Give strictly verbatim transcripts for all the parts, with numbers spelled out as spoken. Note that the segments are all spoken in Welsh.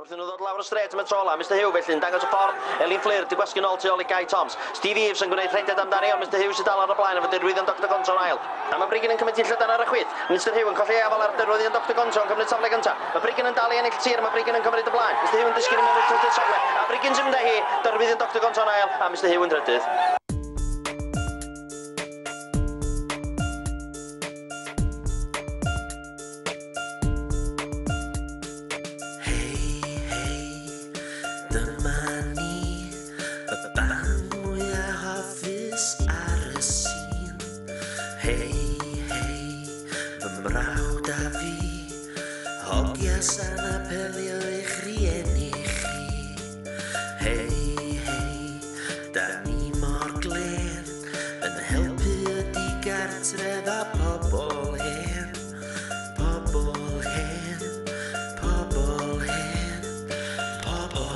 Wrth nhw ddod lawr y strêt am y tro ola, Mister Hugh felly yn dangos y ffordd, Elin Fflur di gwasgu nôl tu ôl i Guy Toms. Steve Eaves yn gwneud rhediad amdani, ond Mister Hugh sy'n dal ar y blaen efo Derwyddion Doctor Gonzo'n ail. A mae Brigyn yn cymryd hi'n llydan ar y chwith. Mister Hugh yn colli afael ar Derwyddion Doctor Gonzo yn cymryd safle gyntaf. Mae Brigyn yn dal i ennill tir, mae Brigyn yn cymryd y blaen. Mister Hugh yn disgyn i mewn i'r trydydd safle. A Brigyn sy'n mynd â hi, Derwyddion Doctor Gonzo'n ail, a Mister Hugh yn drydydd. Dyma ni, y band mwyaf hoffus ar y sîn. Hei, hei, fy mrawd a fi, hogia sa'n apelio i'ch rieni chi. Hei, hei, da ni mor glên, yn helpu y digartref a pobl hen. Pobl hen, pobl hen, pobl.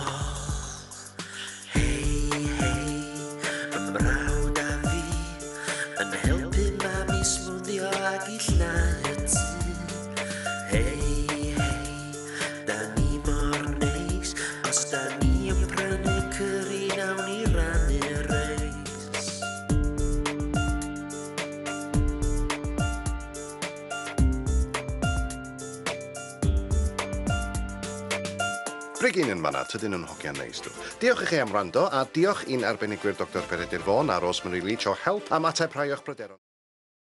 Hei, hei, fy mrawd a fi, yn helpu mami smwddio ag i llnau y tŷ. Hei, hei, da ni mor neis, os da ni yn prynu cyri, nawn ni rannu'r reis. Brigyn yn fanna, tydyn nhw'n hogiau neis dw. Diolch i chi am wrando, a diolch i'n arbenigwyr Doctor Peredur Vaughan a Rosemary Leach o help am ateb rhai o'ch pryderon.